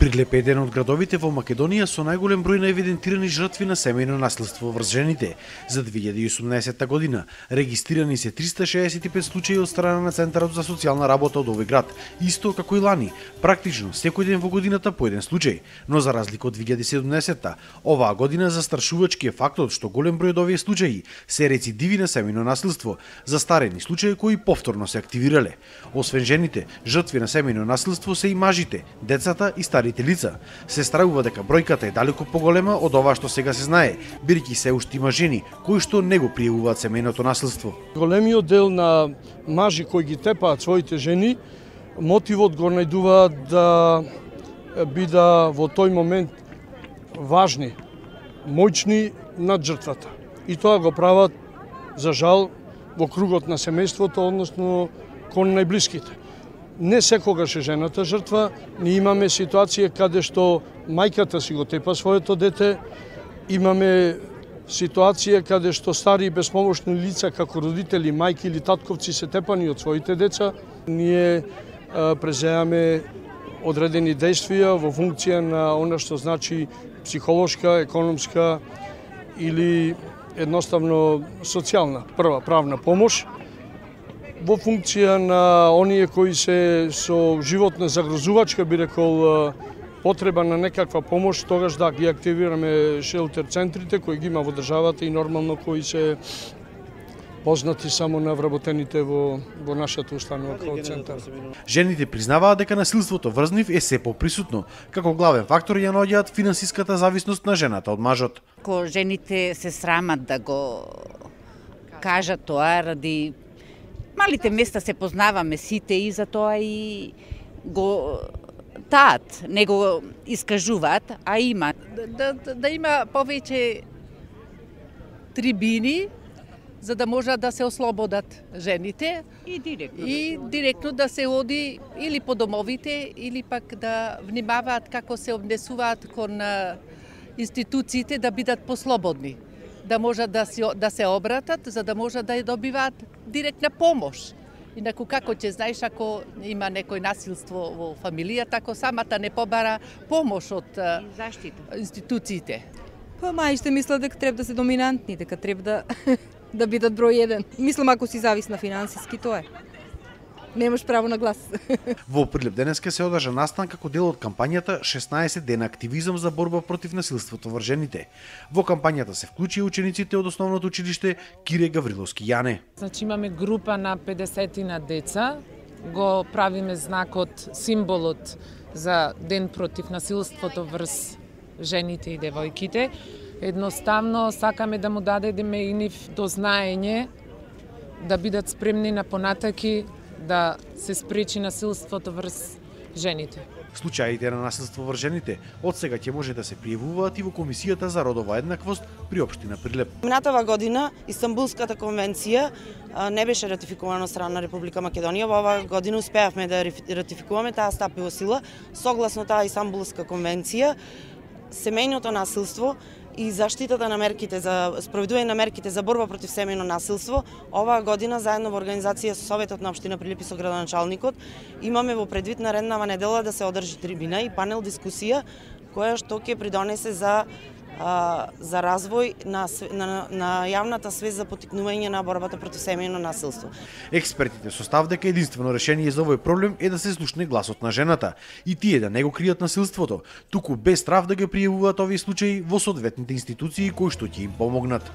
Прилеп е еден од градовите во Македонија со најголем број на евидентирани жртви на семејно насилство врз жените. За 2018 година регистрирани се 365 случаи од страна на Центарот за социјална работа од овој град, исто како и лани, практично секој ден во годината по еден случај. Но за разлика од 2017-та, оваа година застрашувачки е фактот што голем број од овие случаи се рецидиви на семејно насилство, застарени случаи кои повторно се активирале. Освен жените, жртви на семејно насилство се и мажите, децата и старите лица. Се стравува дека бројката е далеку поголема од ова што сега се знае, бидејќи се уште има жени кои што не го пријавуваат семејното насилство. Големиот дел на мажи кои ги тепаат своите жени, мотивот го најдуваат да бида во тој момент важни, моćни над жртвата. И тоа го прават, за жал, во кругот на семејството, односно кон најблиските. Не секогаш е жената жртва, ние имаме ситуација каде што мајката си го тепа своето дете, имаме ситуација каде што стари и безпомошни лица како родители, мајки или татковци се тепани од своите деца. Ние преземаме одредени действија во функција на она што значи психолошка, економска или едноставно социјална прва правна помош, во функција на оние кои се со животна загрозувачка, би рекол, потреба на некаква помош, тогаш да ги активираме шелтер центрите кои ги има во државата и нормално кои се познати само на вработените во нашата установа како центар. Жените признаваат дека насилството врз нив е се поприсутно, како главен фактор ја наоѓаат финансиската зависност на жената од мажот. Ко жените се срамат да го кажат тоа ради малите места се познаваме сите и затоа и го таат, не го искажуваат, а има. Да има повеќе трибини, за да можат да се ослободат жените и директно да се оди или по домовите, или пак да внимаваат како се однесуваат кон институциите да бидат послободни, да можат да се обратат, за да можат да ја добиваат директна помош. Инаку како ќе знаеш ако има некој насилство во фамилијата, ако самата не побара помош од институциите. Па мајште мислат дека треба да се доминантни, дека треба да бидат број еден. Мислам ако си зависна финансиски, тоа е. Немаш право на глас. Во Прилеп денеска се одржа настан како дел од кампањата 16 дена активизам за борба против насилството врз жените. Во кампањата се вклучи учениците од основното училиште Кире Гавриловски Јане. Значи имаме група на 50 на деца, го правиме знакот, символот за ден против насилството врз жените и девојките. Едноставно сакаме да му дадеме и нив дознаење да бидат спремни на понатаки да се спречи насилството врз жените. Случаите на насилство врз жените од сега ќе може да се пријавуваат и во Комисијата за родова еднаквост при општина Прилеп. Минатава година Истанбулската конвенција не беше ратификувана од страна на Република Македонија. Во оваа година успеавме да ратификуваме, таа стапи во сила. Согласно таа Истанбулска конвенција, семејното насилство и заштитата на мерките за спроведување на мерките за борба против семејно насилство, оваа година заедно во организација со Советот на општина Прилеп и со градоначалникот имаме во предвид нареднава недела да се одржи трибина и панел дискусија која што ќе придонесе за развој на јавната свест за поттикнување на борбата против семејно насилство. Експертите со став дека единствено решение за овој проблем е да се слушне гласот на жената и тие да не го кријат насилството, туку без страв да ги пријавуваат овие случаи во соодветните институции кои што ќе им помогнат.